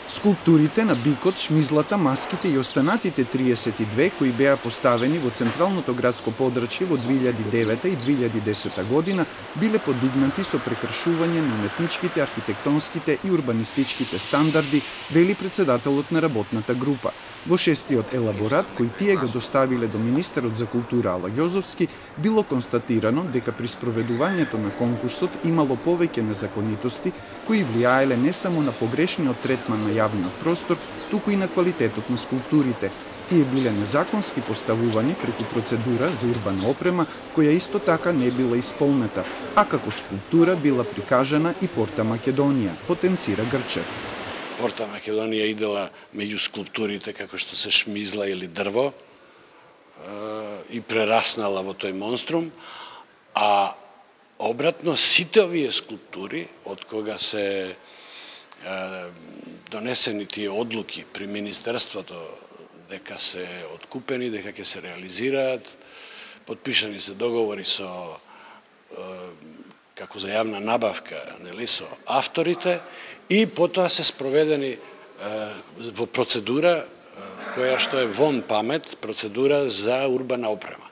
Скулптурите на бикот, шмизлата, маските и останатите 32 кои беа поставени во централното градско подрачје во 2009 и 2010 година биле подигнати со прекршување на уметничките, архитектонските и урбанистичките стандарди, вели председателот на работната група. Во шестиот елаборат, кој тие го доставиле до министерот за култура Ала Ѓозовски, било констатирано дека при спроведувањето на конкурсот имало повеќе незаконитости кои влијаеле не само на погрешниот третман на јавниот простор, туку и на квалитетот на скулптурите. Тие биле незаконски поставувани преку процедура за урбана опрема, која исто така не била исполнета, а како скулптура била прикажана и Порта Македонија, потенцира Грчев. Порта Македонија идела меѓу скулптурите како што се шмизла или дрво и прераснала во тој монструм, а обратно сите овие скулптури, од кога се донесени тие одлуки при Министерството дека се откупени, дека ќе се реализираат, подпишани се договори со како за јавна набавка, нели, со авторите, и потоа се спроведени во процедура која што е вон памет, процедура за урбана опрема.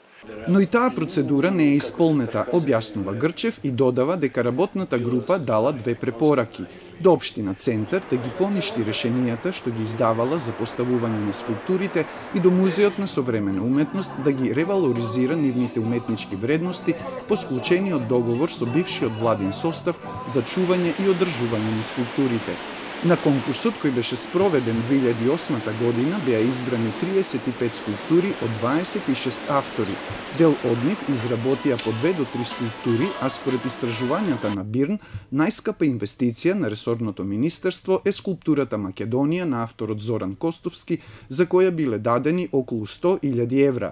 Но и таа процедура не е исполнета, објаснува Грчев и додава дека работната група дала две препораки. До Општина Центар да ги поништи решенијата што ги издавала за поставување на скулптурите и до Музеот на современа уметност да ги ревалоризира нивните уметнички вредности по склучениот договор со бившиот владин состав за чување и одржување на скулптурите. На конкурсот кој беше спроведен 2008 година беа избрани 35 скулптури од 26 автори. Дел од нив изработија по 2 до 3 скулптури, а според истражувањата на БИРН, најскапа инвестиција на ресорното министерство е скулптурата Македонија на авторот Зоран Костовски, за која биле дадени околу 100.000 евра.